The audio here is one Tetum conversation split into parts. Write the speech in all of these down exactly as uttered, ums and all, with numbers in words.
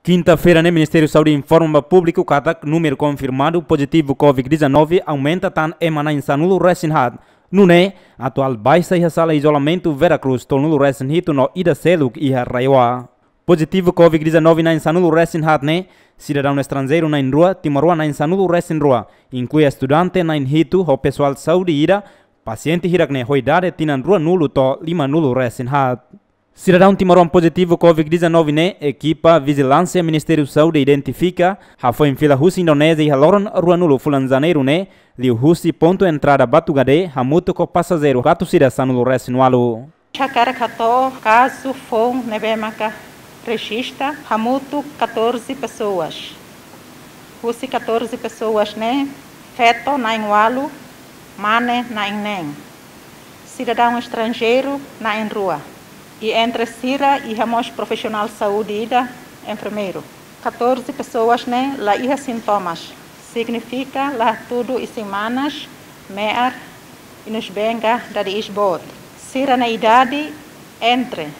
Kinta-feira ne'e Ministériu Saúde informa ba públiku katak númeru konfirmadu pozitivu COVID dezanove aumenta tan ema na'in sanulu resin haat. Nune'e, atuál baixa iha sala izolamentu Vera Cruz tolunulu resin hitu no ida seluk iha RAEOA. Pozitivu COVID dezanove na'in sanulu resin haat ne'e, sidadaun estranjeiru na'in rua, timoroan na'in sanulu resin rua, inklui estudante na'in hitu ho pesoál saúde ida, pasiente hirak ne'e ho idade tinan ruanulu to'o limanulu resin haat. Sidadaun timoroan pozitivu COVID dezanove ne'e, ekipa vijilánsia Ministériu Saúde identifika, hafoin fila husi Indonézia iha loron ruanulu fulan Janeiru ne'e, liuhusi pontu entrada Batugade, hamutuk ho pasajeiru katorze sanulu resin ualu. Hakarak hato'o kazu foun ne'ebé maka rejista, hamutuk katorze pessoas. Husi katorze pessoas ne'e, feto na'in ualu, mane na'in neen. Sidadaun estranjeiru na'in rua. I entre sira iha mós profisionál saúde ida, enfermeiru. Katorze pessoas ne'e la iha sintomas, signifika la hatudu isin-manas, me'ar, inusbeen ka dada iis boot. Sira-nia idade entre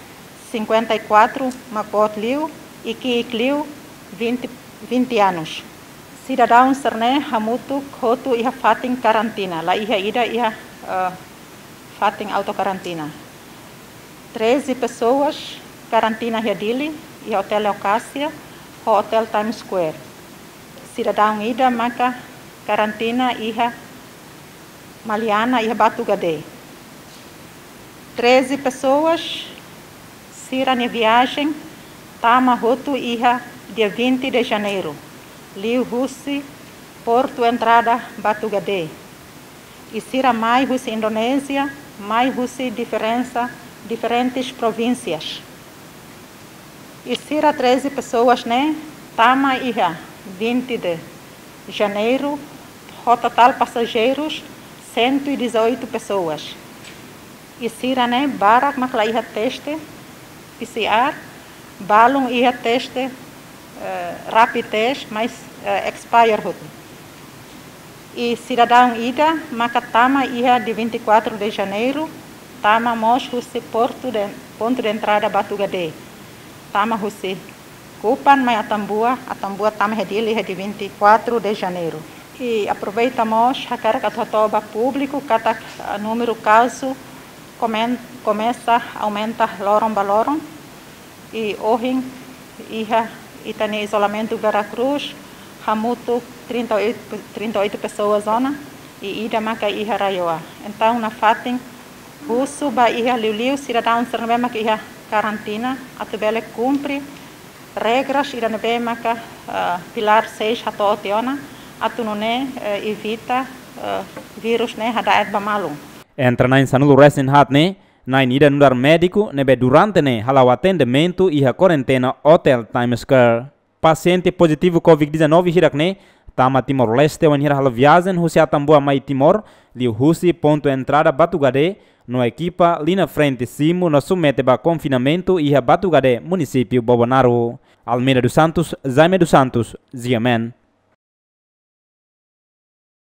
cinquenta e quatro mak boot liu i ki'ik liu vinte, vinte anos. Sidadaun sira-ne'e hamutuk hotu iha fatin karantina, la iha ida iha, eh, fatin autokarantina. Treze pessoas karantina iha Dili, iha Hotel Leucasia, ho Hotel Times Square. Sidadaun ida maka karantina iha Maliana, iha Batugade. Treze pessoas, sira-nia viajen tama hotu iha dia vinte de Janeiro, liuhusi portu entrada Batugade. I sira mai husi Indonézia, mai husi diferensa, diferentes provínsias. I sira treze pessoas ne'e tama iha vinte de Janeiro, ho totál pasajeirus cento e dezoito pessoas. I sira-ne'e barak mak la iha teste P C R, balun iha teste, eh, rapid test, mas, eh, expire hotu. I sidadaun ida maka tama iha dia vinte e quatro de Janeiro, tama mós husi portu de, pontu de entrada Batugade. Tama husi Kupang mai Atambua, Atambua tama iha Dili iha dia vinte e quatro de Janeiro. I aproveita mós hakarak atu hato'o ba públiku katak, ah, númeru kazu komen-, komesa aumenta loron ba loron. I ohin iha ita-nia izolamentu Vera Cruz, hamutuk trinta e oito, trinta e oito pessoas ona, i ida maka iha RAEOA. Entaun nafatin husu ba iha liuliu sidadaun sira ne'ebé maka iha karantina, atu bele kumpre regras ida ne'ebé maka, eh, pilar seis hato'o tiha ona, atu nune'e, eh, evita, eh, vírus ne'e hada'et ba malu. Entre na'in sanulu resin haat ne'e, na'in ida nu'udar médiku ne'ebé durante ne'e hala'o atendimentu iha kuarentena Hotel Times Square. Pasiente pozitivu COVID dezanove hirak ne'e tama Timor-Leste wainhira halo viajen husi Atambua mai Timor, liuhusi pontu entrada Batugade, no ekipa liña frente simu no submete ba konfinamentu iha Batugade, munisípiu Bobonaro. Almeida dos Santos, Jaime dos Santos, G M N.